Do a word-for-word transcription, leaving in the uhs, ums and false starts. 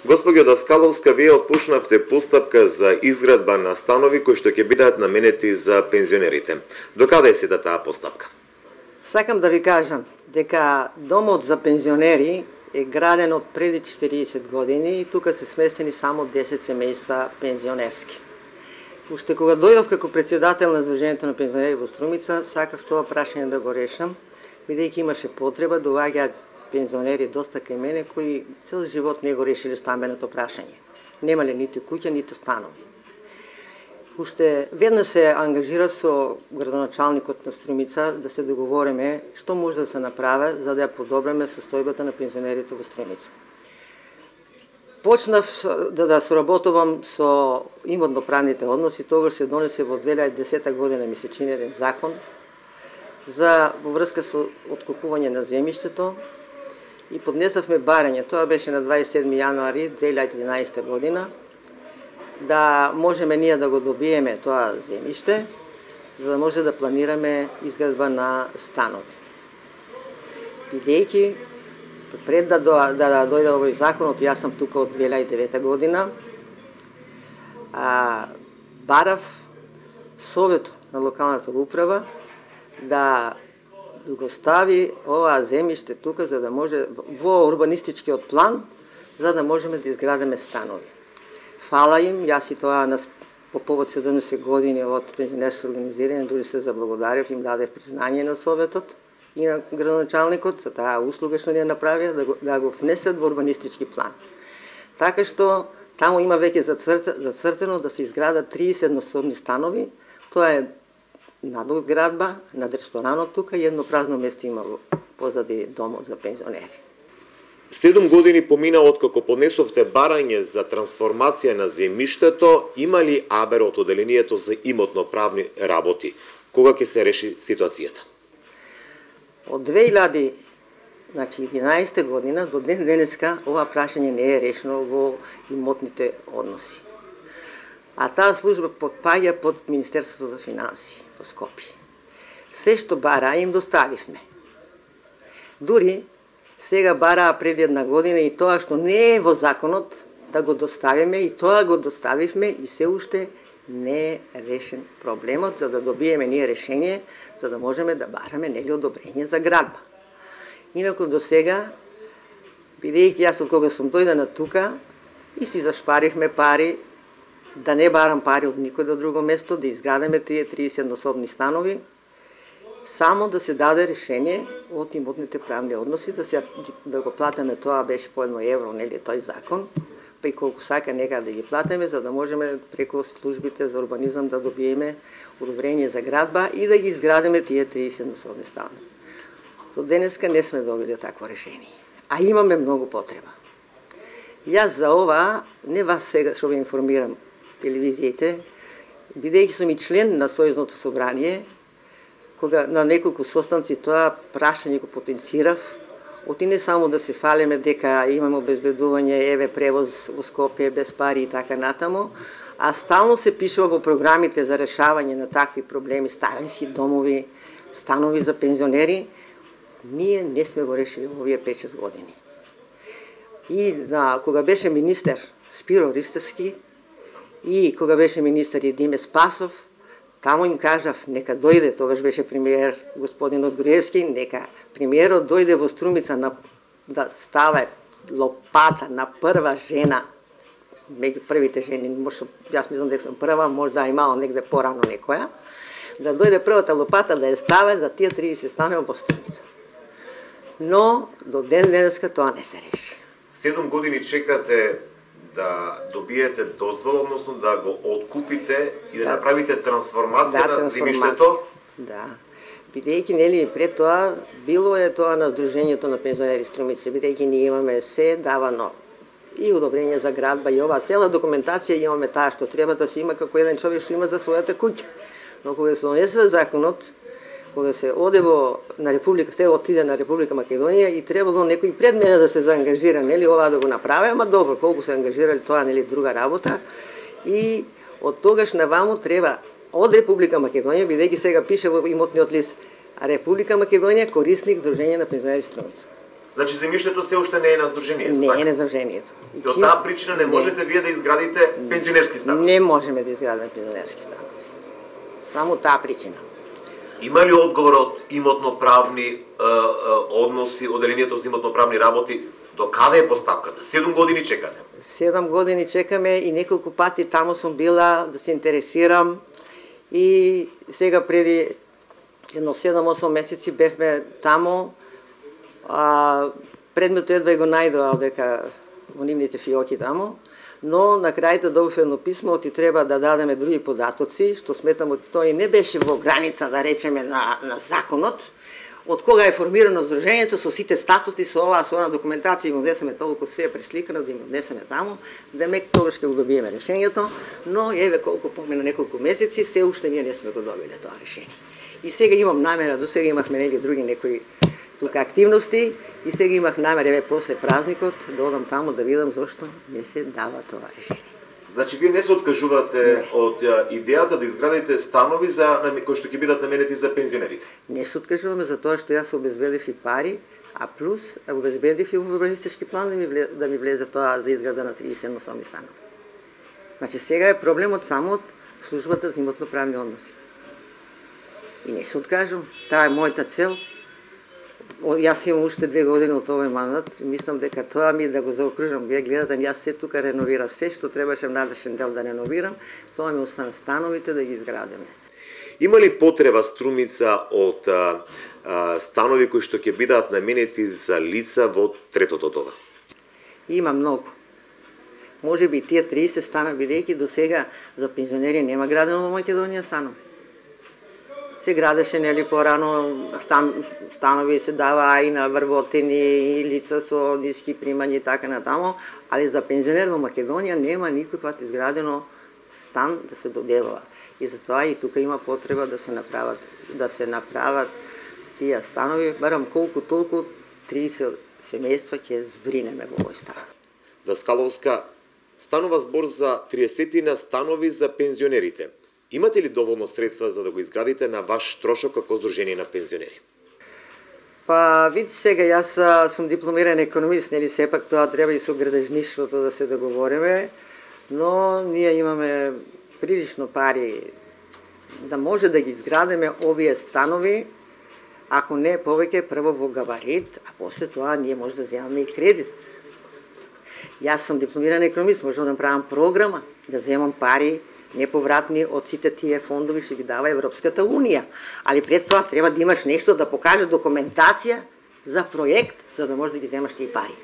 Господјо Даскаловска, вие отпушнавте постапка за изградба на станови кои што ќе бидат наменети за пензионерите. Докаде е сета таа постапка? Сакам да ви кажам дека домот за пензионери е граден од преди четириесет години и тука се сместени само десет семејства пензионерски. Уште кога дојдов како председател на Сдруженијето на пензионери во Струмица, сакав тоа прашање да го решам, бидејќи имаше потреба, доаѓаат пензионери доста кај мене кои цел живот не го решиле стамбеното прашање. Немале ниту куќа, ниту станови. Уште веднаш се ангажирав со градоначалникот на Струмица да се договориме што може да се направи за да ја подобриме состојбата на пензионерите во Струмица. Почнав да, да соработувам со имотно-правните односи, тогаш се донесе во две илјади и десета година, ми се чини еден закон за во врска со откупување на земјиштето и поднесавме барање, тоа беше на дваесет и седми јануари две илјади и единаесета година, да можеме ние да го добиеме тоа земјиште, за да може да планираме изградба на станови. Бидејќи пред да, да, да дојде овој законот, јас сум тука од две илјади и девета година, а, барав Совет на локалната управа да го стави оваа земјиште тука за да може во урбанистичкиот план за да можеме да изградиме станови. Фала им, јас и тоа нас по повод седумдесет години од пензионерско организирање дури се заблагодарив, им дадев признање на Советот и на градоначалникот за таа услуга што ни ја направија да го, да го внесат во урбанистички план. Така што таму има веќе зацртено да се изградат триесет еднособни станови, тоа е надоградба над ресторанот тука и едно празно место има позади домот за пензионери. Седум години помина откако поднесовте барање за трансформација на земјиштето, има ли абер од оделението за имотно-правни работи? Кога ќе се реши ситуацијата? Од две илјади и единаесета година до ден денеска ова прашање не е решено во имотните односи. А таа служба подпаѓа под Министерството за финансии во Скопје. Се што бара им доставивме. Дури сега бараа пред една година и тоа што не е во законот да го доставиме и тоа го доставивме и се уште не е решен проблемот за да добиеме ние решение за да можеме да бараме нели одобрење за градба. Инаку до сега, бидејќи јас од кога сум дојдена тука и си зашпаривме пари, да не барам пари од никој до друго место, да изградиме тие триесет еднособни станови, само да се даде решение од имотните правни односи, да се да го платиме, тоа беше по едно евро, нели тој закон, па и колку сака нека да ги платиме, за да можеме преку службите за урбанизам да добиеме одобрење за градба и да ги изградиме тие триесет еднособни станови. До денеска не сме добили такво решение, а имаме многу потреба. Јас за ова, не вас сега што ве информирам, телевизиите, бидејќи сум и член на Сојузното собрание, кога на неколку состанци тоа прашање го потенцирав, оти не само да се фалиме дека имаме обезбедување, еве превоз во Скопје без пари и така натаму, а стално се пишува во програмите за решавање на такви проблеми, старински домови, станови за пензионери, ние не сме го решили во овие пет-шест години. И на, кога беше министер Спиро Ристевски и кога беше министер Едиме Спасов, таму им кажав, нека дојде, тогаш беше премиер господин Одгориевски, нека премиерот дојде во Струмица на, да ставе лопата на прва жена, меѓу првите жени, може, јас мислам дека сум прва, може да имало негде порано некоја, да дојде првата лопата да ја ставе за тие триесет станови во Струмица. Но до ден денеска тоа не се реши. Седум години чекате да добиете дозвола, односно да го откупите и да, да направите трансформација да, на земјиштето? Да. Бидејќи нели пред тоа било е тоа на Сдруженијето на пензионери Струмица, бидејќи ние имаме се давано и одобрење за градба и ова цела документација имаме таа што треба да се има како еден човек што има за својата куќа. Но кога се донесе законот, кога се оде во на Република, се отиде на Република Македонија и требало некој пред мене да се заангажира, нели ова да го направи, ама добро, колку се ангажирали тоа нели друга работа. И од тогаш наваму треба од Република Македонија, бидејќи сега пише во имотниот лист, Република Македонија корисник Сдружение на пензионери Струмица. Значи земјиштето се уште не е на здружението. Не така? е на здружението. И од таа причина не можете вие да изградите пензионерски станови. Не можеме да изградиме пензионерски станови. Само таа причина. Има ли одговор од имотно-правни е, е, односи, оделението за имотно-правни работи? До каде е поставката? Седум години чекате. Седам години чекаме и неколку пати таму сум била да се интересирам и сега преди едно седам-осум месеци бевме таму. А, предметот едва и го најдоа дека во нивните фиоки таму, но на крајто добив едно писмо, ти треба да дадеме други податоци, што сметам од тој не беше во граница, да речеме, на, на законот, од кога е формирано здружението, со сите статути, со оваа, со она документација, им однесеме толку све пресликано, да им однесеме таму, да мек тогаш ќе го добиеме решението, но еве колку помина неколку месеци, се уште ние не сме го добиле тоа решение. И сега имам намера, до сега имавме нели други некои тука активности и сега имах намер еве после празникот да одам таму да видам зошто не се дава тоа решение. Значи вие не се откажувате не. од идејата да изградите станови за кои што ќе бидат наменети за пензионерите? Не се откажуваме за тоа што јас обезбедив и пари, а плюс обезбедив и урбанистички план да ми влезе, да ми влезе тоа за изграда на триесет еднособни станови. Значи сега е проблемот само од службата за имотно-правни односи. И не се откажувам, таа е мојата цел. Јас имам уште две години од овој мандат, мислам дека тоа ми да го заокружам. Вие гледате, јас се тука реновирав се што требаше внатрешен дел да реновирам, тоа ми остана становите да ги изградиме. Има ли потреба Струмица од а, а, станови кои што ќе бидат наменети за лица во третото доба? Има многу. Може би тие триесет стана, бидејќи до сега за пензионери нема градено во Македонија станови. Се градеше нели порано станови се дава и на врвотини и лица со ниски примања и така натаму, али за пензионер во Македонија нема никој пат изградено стан да се доделува. И затоа и тука има потреба да се направат да се направат тие станови, барам колку толку триесет семејства ќе збринеме во овој стан. Даскаловска, станува збор за триесет станови за пензионерите. Имате ли доволно средства за да го изградите на ваш трошок како здружение на пензионери? Па, вид сега, јас сум дипломиран економист, нели сепак тоа треба и со градежништвото да се договориме, но ние имаме прилично пари да може да ги изградиме овие станови, ако не повеќе прво во габарит, а после тоа ние може да земаме и кредит. Јас сум дипломиран економист, можам да направам програма, да земам пари неповратни од сите тие фондови што ги дава Европската Унија. Али пред тоа треба да имаш нешто да покаже документација за проект, за да можеш да ги земаш тие пари.